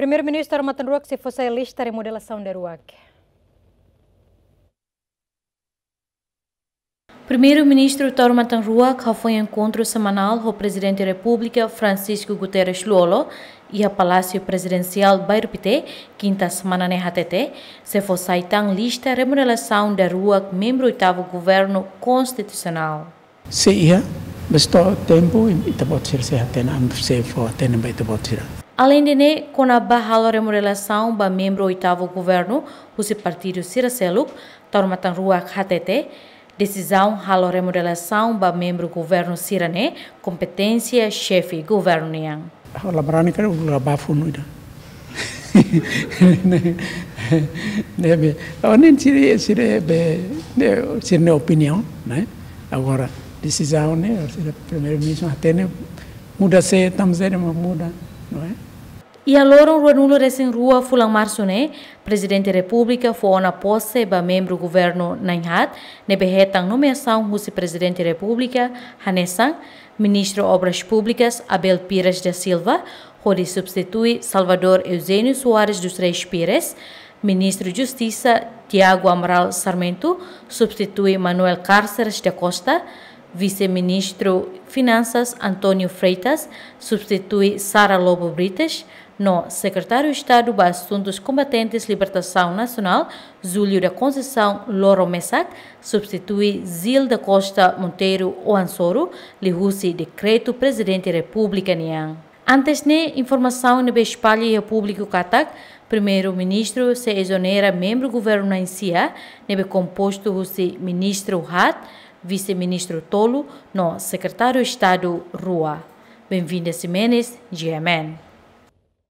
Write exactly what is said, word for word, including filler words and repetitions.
Primeiru-Ministru Taur Matan Ruak sei fó sai lista remodelasaun daruak. Primeiru-Ministru Taur Matan Ruak hafoin enkontru semanál ho Prezidente Repúblika Francisco Guterres Lú-Olo iha Palásiu Prezidensiál Bairru Pité, kinta semana ne'e hatete, sei fó sai tan lista remodelasaun daruak membru oitavu governu konstitusionál. Se iha, bes to'o tempu, ita-boot sira sei hatene, ami sei fó hatene ba ita-boot sira. Aleinde ne'e, kona-ba halo remodelasaun ba membru oitavu governu husi partidu sira seluk, Taur Matan Ruak hatete, desizaun halo remodelasaun ba membru governu sira-ne'e kompeténsia xefe governu nian. Ha'u la barani karik uluk la bá funu ida. Ne'ebé, oh, ne'e sira, sira be, ne'e sira-nia opiniaun, ne'e? Agora, desizaun ne'e, sira Primeiru-Ministru hatene, muda sé, tanba sé mak muda, não é? Iha loron ruanulu-resin-rua fulan Marsu ne'e, Prezidente Repúblika fó ona pose ba membru governu na'in-haat, ne'ebé hetan nomeasaun husi Prezidente Repúblika, hanesan, Ministru Obras Públikas Abel Pires da Silva, hodi substitui Salvador Eugênio Soares dos Reis Pires, Ministru Justisa Tiago Amaral Sarmento, substitui Manuel Cárceres da Costa, Vise-Ministru Finansas António Freitas, substitui Sara Lobo Brites, no Sekretáriu Estadu ba Asuntus Kombatentes Libertasaun Nasionál, Júlio da Conceição Loro Mesac, substitui Gil da Costa Monteiro Oansoru, liuhusi dekretu Prezidente Repúblika nian. Antes ne'e, informasaun ne'ebé espalla iha públiku katak, Primeiru-Ministru sei ezonera membru governu na'in-sia, ne'ebé kompostu husi ministru haat, vise-ministru tolu, no Sekretáriu Estadu rua. Benvinda Ximenes, G M N.